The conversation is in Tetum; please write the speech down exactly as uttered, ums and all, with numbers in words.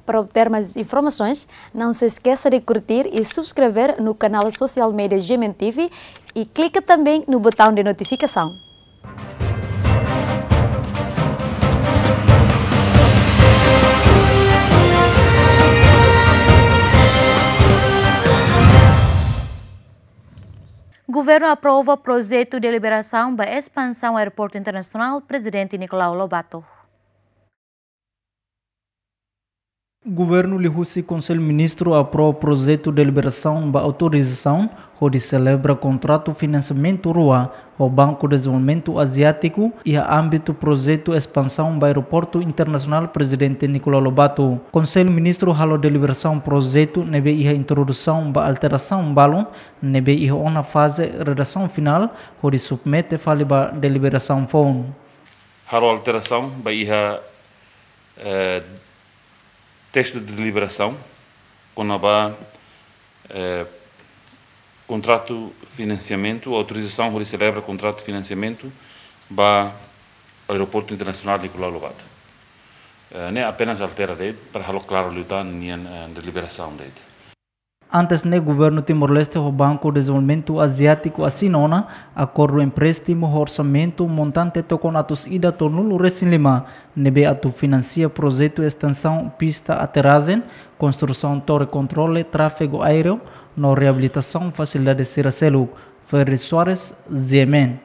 Para obter mais informações, não se esqueça de curtir e subscrever no canal social media G M N T V e clica também no botão de notificação. Governu aprova projetu deliberasaun ba espansaun Aeroportu Internasionál Prezidente Nicolau Lobato. Governu liuhusi Konsellu Ministru aprova projetu deliberasaun ba autorizasaun hodi selebra kontratu finansiamentu rua ho Banku Dezenvolvimentu Aziátiku iha ámbitu projetu espansaun ba Aeroportu Internasionál Prezidente Nicolau Lobato. Konsellu Ministru halo deliberasaun projetu ne'ebé iha introdusaun ba alterasaun balun ne'ebé iha ona faze redasaun finál hodi submete fali ba deliberasaun foun. Halo alterasaun ba iha, eh, testu de deliberasaun kona-ba, eh, kontratu finansiamentu, autorizasaun hodi selebra kontratu finansiamentu ba Aeroportu Internasionál Nicolau Lobato. Eh, ne'e apenas altera de'it para halo klaru liután nian, eh, deliberasaun de'it. Antes ne'e Governu Timor-Leste ho Banku Dezenvolvimentu Aziátiku asina ona akordu empréstimu ho orsamentu montante tokon atus ida tolunulu-resin-lima ne'ebé atu finansia projetu estensaun pista aterajen, konstrusaun tore kontrole tráfegu aéreu no reabilitasaun fasilidade sira seluk. Ferry Soares, G M N.